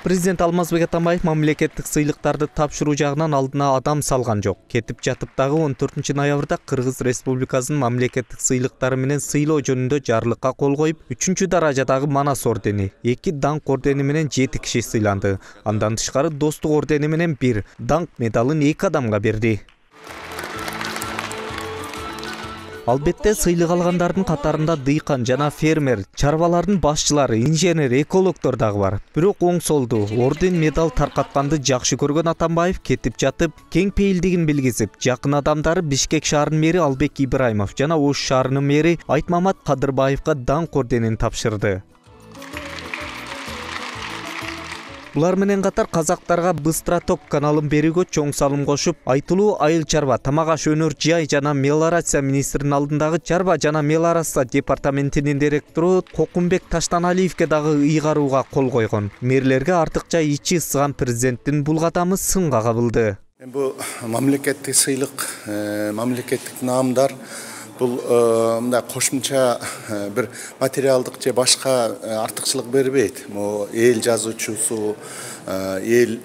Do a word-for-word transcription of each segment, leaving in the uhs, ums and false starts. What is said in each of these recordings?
Президент Алмазбек Атамбаев мамлекеттик сыйлыктарды тапшыруу жагынан алдына адам салган жок. Кетип жатып дагы он төртүнчү ноябрда Кыргыз Республикасынын мамлекеттик сыйлыктары менен сыйлоо жөнүндө жарлыкка кол коюп, үчүнчү даражадагы Манас ордени, эки даңк ордени менен жети киши сыйланды. Андан тышкары Достук ордени менен бир, даңк медалын эки адамга берди. Албетте сыйлык алгандардын катарында дыйкан жана фермер, чарбалардын башчылары, инженер, экологдор дагы бар. Бирок оң солду орден медал таркатканды жакшы көргөн Атамбаев кетип жатып, кең пейилдигин билгизип, жакын адамдары Бишкек шаарынын мэри Албек Ибраимов жана Ош шаарынын мэри Айтмамат Кадырбаевга даңк орденин тапшырды. Булар менен катар казактарга Быстроток каналын берүүгө чоң салым кошуп, айтылуу айыл чарба, тамак аш өнөр жай жана мелиорация министринин алдындагы чарба жана мелиорация департаментинин директору Кокумбек Таштаналиевге дагы ыйгарууга кол койгон. Мэрлерге артыкча ичи ысыган президенттин бул кадамы сынга кабылды. Бул мамлекеттик сыйлык, мамлекеттик наамдар бул мындай кошумча бир материалдык же башка артыкчылык бербейт. Могу эл жазуучусу, эл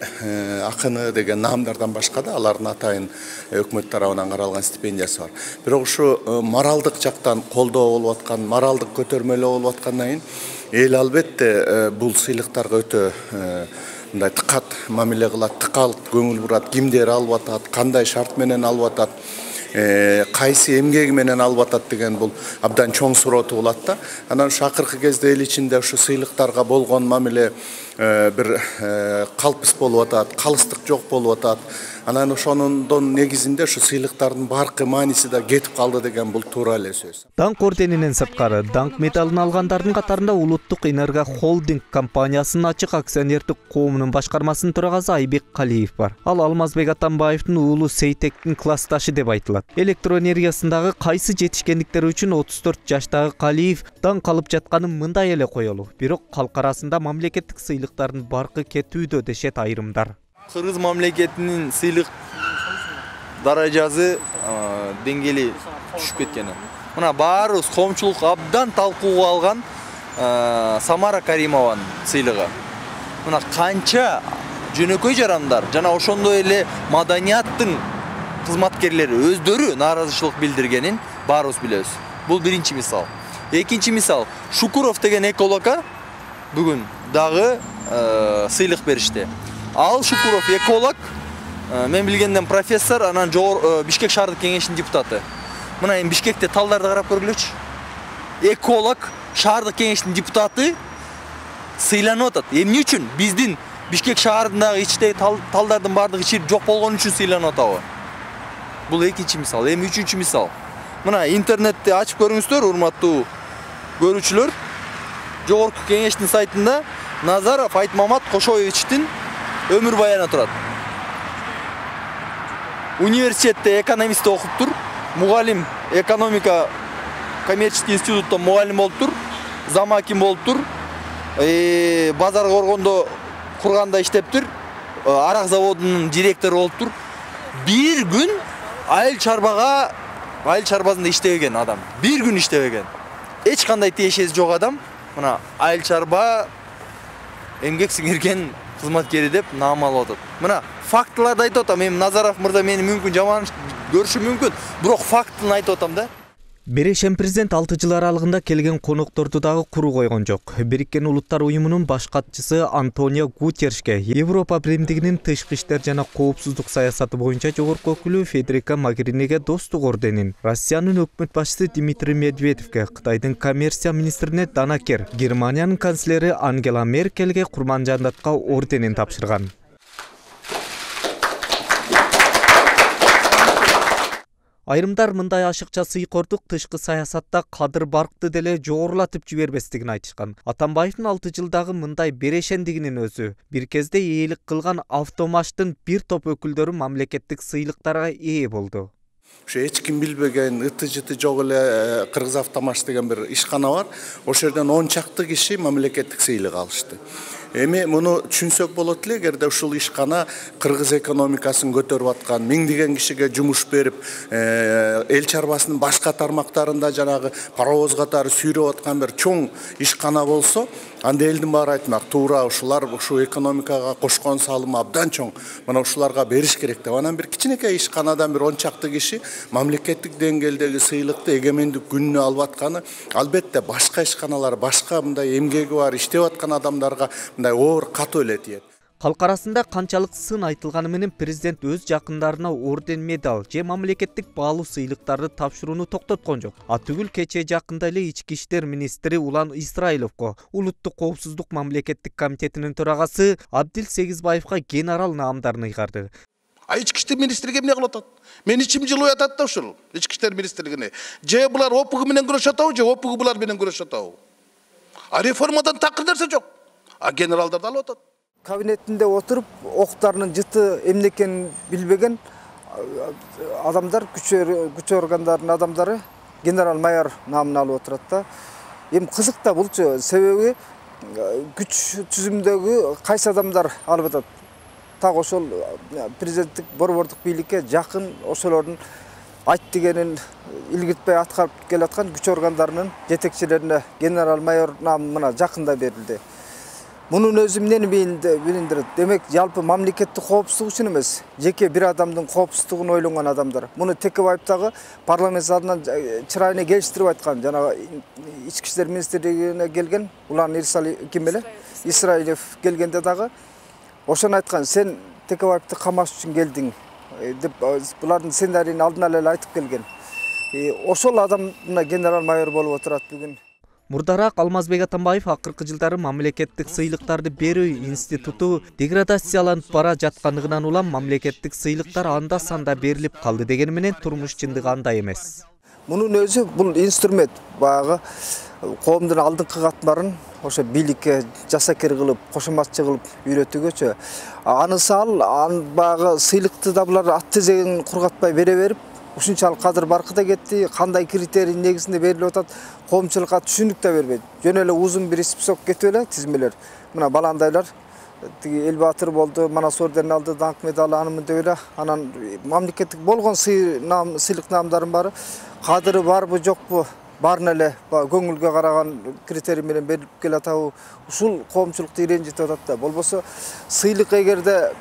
акыны деген наамдардан башка да алардын атайын өкмөт тарабынан каралган стипендиясы бар. Бирок ушу моралдык жактан колдоо болуп аткан, моралдык көтөрмөлөө болуп аткандан кийин эл албетте бул сыйлыктарга өтө мындай тыкат мамиле кылат, тыкалып көңүл бурат, кимдер алып атат, кандай шарт менен алып атат, кайсы эмгеги менен алып атат деген бул абдан чоң суроо туулат да. Анан ушу акыркы кезде эл ичинде ушу сыйлыктарга болгон мамиле бир калпыс болуп атат, калыстык жок болуп атат. Анан ошондон негизинде ушу сыйлыктардын баркы мааниси да кетип калды деген бул туура эле сөз. Даңк орденинен сырткары даңк медалын алгандардын катарында Улуттук Энерго холдинг компаниясынын ачык акционердик коомунун башкармасынын төрагасы Айбек Калиев бар. Ал Алмазбек Атамбаевдин уулу Сейтектин классташы деп айтылат. Электроэнергиясындагы кайсы жетишкендиктери үчүн отуз төрт жаштагы Калиев даңк алып жатканын мындай эле коелу. Бирок калк арасында мамлекеттик сыйлыктардын баркы кетүүдө дешет айрымдар. Кыргыз мамлекетинин сыйлык даражасы деңгээли түшүп кеткен. Мына баарыбыз коомчулук абдан талкууга алган Самара Каримованын сыйлыгы. Мына канча жөнөкөй жарандар жана ошондой эле маданияттын кызматкерлери өздөрү нааразычылык билдиргенин баарыбыз билебиз. Бул биринчи мисал. Экинчи мисал, Шукуров деген экологко бүгүн дагы сыйлык беришти. Ал Шукуров эколог, мен билгенден профессор, анан Бишкек шаардык кеңешинин депутаты. Мына эми Бишкекте талдарды карап көргүлөчү. Эколог, шаардык кеңештин депутаты сыйланып атат. Эмне үчүн? Биздин Бишкек шаарындагы ичтеги талдардын баардыгы ичирип жок болгон үчүн сыйланып атабы? Бул экинчи мисал. Эми үчүнчү мисал. Мына интернетти ачып көрүңүздөр, урматтуу көрүүчүлөр. Жогорку кеңештин сайтында Назаров Айтмамат Кошоевичтин өмүр баяны турат. Университетте экономист окуп тур, мугалим экономика коммерческий институттан мугалим болуп тур, замаким болуп тур, базар коргондо курганда иштеп тур, арак заводунун директору болуп тур. Бир күн айыл чарбага, айыл чарбасында иштебеген адам. Бир күн иштебеген. Эч кандай тиешеси жок адам. Мына айыл чарба эмгек сиңирген кызматкери деп наам алып атат. Мына фактыларды айтып атам. Эми Назаров мырза мени мүмкүн жаман көрүшү мүмкүн, бирок фактын айтып атам да. Берешен президент алты жыл аралыгында келген конокторду дагы куру койгон жок. Бириккен Улуттар уюмунун баш катчысы Антонио Гутерришке Европа биримдигинин тышкы иштер жана коопсуздук саясаты боюнча жогорку өкүлү Федерика Могеринеге Достук орденин, Россиянын өкмөт башчысы Дмитрий Медведевке, Кытайдын коммерция министрине Дана Кер, Германиянын канцлери Ангела Меркельге Курманжандатка орденин тапшырган. Айрымдар мындай ашыкча сыйкордук тышкы саясатта Кадыр Баркты деле жогорулатып жибербестигин айтышкан. Атамбаевдин алты жылдагы мындай берешендигинин өзү бир кезде ээлик кылган Автомаштын бир топ өкүлдөрү мамлекеттик сыйлыктарга ээ болду. Ушу эч ким билбеген ыты-жыты жок эле Кыргыз Автомаш деген бир ишкана бар. Ошол жерден он чакты киши мамлекеттик сыйлык алышты. Эми муну түшүнсөк болот эле, эгерде ушул ишкана кыргыз экономикасын көтөрүп аткан, миңдеген кишиге жумуш берип, эл чарбасынын башка тармактарында жанагы паровоз катары сүйрөп аткан бир чоң ишкана болсо, Анда элдин баары айтмак, туура ушулар ушу экономикага кошкон салымы абдан чоң. Мына ушуларга бериш керек деп. Анан бир кичинекей ишканадан бир он чакты киши мамлекеттик деңгээлдеги сыйлыкты эгемендик күнүнө алып атканы албетте башка ишканалар, башка мындай эмгеги бар, иштеп аткан адамдарга мындай оор катуу эле тиет. Калк арасында канчалык сын айтылганы менен президент өз жакындарына орден, медаль же мамлекеттик баалуу сыйлыктарды тапшырууну токтоткон жок. А түгүл кечээ жакында эле ички иштер министри Улан Исраиловго Улуттук коопсуздук мамлекеттик комитетинин төрагасы Абдил Сегизбаевга генерал наамдарын ыйгарды. А ички иштер министриге эмне кылып атат? Мен ичим жылып атат да ушул ички иштер министрлигине. Же булар опугу менен күрөшүп атабы, же опугу булар менен күрөшүп атабы? А реформадан такыр нерсе жок. А генералдарды алып атат. Кабинетинде отуруп, октарынын жыты эмне экенин билбеген адамдар, күч органдарынын адамдары генерал майор наамын алып отурат да. Эми кызык да булчу, себеби күч түзүмдөгү кайсы адамдар алып атат. Так ошол президенттик борбордук бийликке жакын, ошолордун айт дегенин илгиртпей аткарып келаткан күч органдарынын жетекчилерине генерал майор наамы мына жакында берилди. Мунун өзү эмнени билиндирет? Демек, жалпы мамлекеттик коопсуздук үчүн эмес, жеке бир адамдын коопсуздугун ойлонгон адамдар. Муну Текебаевдагы парламент залынан чырайына келиштирип айткан, жана ички иштер министрлигине келген Улан Исраилов келгенде дагы ошону айткан, сен Текебаевди камаш үчүн келдиң деп булардын сценарийин алдынан эле айтып келген. Ошол адам мына генерал майор болуп отурат бүгүн. Мурдараак Алмазбек Атамбаев акыркы жылдары мамлекеттик сыйлыктарды берүү институту деградацияланып бара жаткандыгынан улам мамлекеттик сыйлыктар анда санда берилип калды дегени менен турмуш чындыгы андай эмес. Мунун өзү бул инструмент баягы коомдун алдыңкы катмарын ошо бийликке жасакер кылып, кошоматчы кылып үйрөтүүгөчө. Анысы ал баягы сыйлыкты да булар ат тезегин кургатпай бере берип, ушунчалык кадыр баркыда кетти, кандай критерий негизинде берилип атат, коомчулукка түшүнүк да бербейт. Жөн эле узун бир список кетип эле тизмелер. Мына баландайлар тиги эл баатыр болду, Манас орденин алды, даңк медалы анымын деп эле, анан мамлекеттик болгон сыйлык наамдарын баары кадыры барбы жокпу, баарын эле көңүлгө караган критерий менен берилип келатабы, ушул коомчулукту иренжитип атат да. Болбосо сыйлык эгерде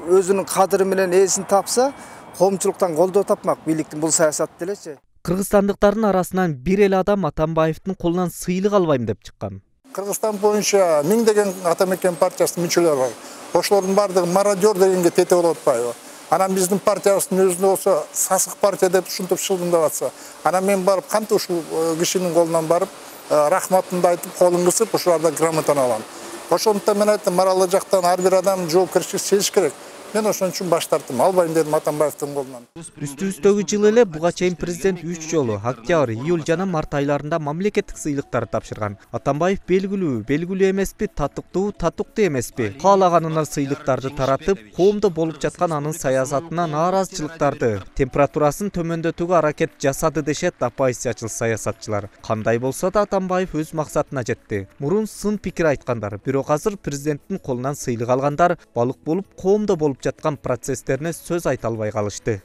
өзүнүн кадыры менен ээсин тапса, коомчулуктан колдоо тапмак бийликтин бул саясаты делечи. Кыргызстандыктардын арасынан бир эле адам Атамбаевдин колунан сыйлык албайм деп чыккан. Кыргызстан боюнча миңдеген Атамекен партиясынын мүчөлөрү бар. Ошолордун бардыгы мародер дегенге тете болуп атпайбы? Анан биздин партиябыздын өзүндө болсо сасык партия деп ушинтип шылдыңдап атса, анан мен барып кантип ушул кишинин колунан барып рахматымды айтып, колун кысып, ушулардан грамотаны алам. Ошондуктан мен айттым, маралы жактан ар бир адам жоопкерчилик сезиш керек. Мен ошон үчүн баш тарттым, албайм дедим Атамбаевдин колунан. Үстүбүздөгү жылы эле буга чейин президент үч жолу октябрь, июль жана март айларында мамлекеттик сыйлыктарды тапшырган. Атамбаев белгилүү, белгилүү эмеспи, татыктуу, татыктуу эмеспи, каалаганына сыйлыктарды таратып, коомдо болуп жаткан анын саясатына нааразычылыктарды, температурасын төмөндөтүүгө аракет жасады дешет оппозициячыл саясатчылар. Кандай болсо да Атамбаев өз максатына жетти. Мурун сын пикир айткандар, бирок азыр президенттин колунан сыйлык алгандар балык болуп коомдо болуп жаткан процесстерине сөз айта албай калышты.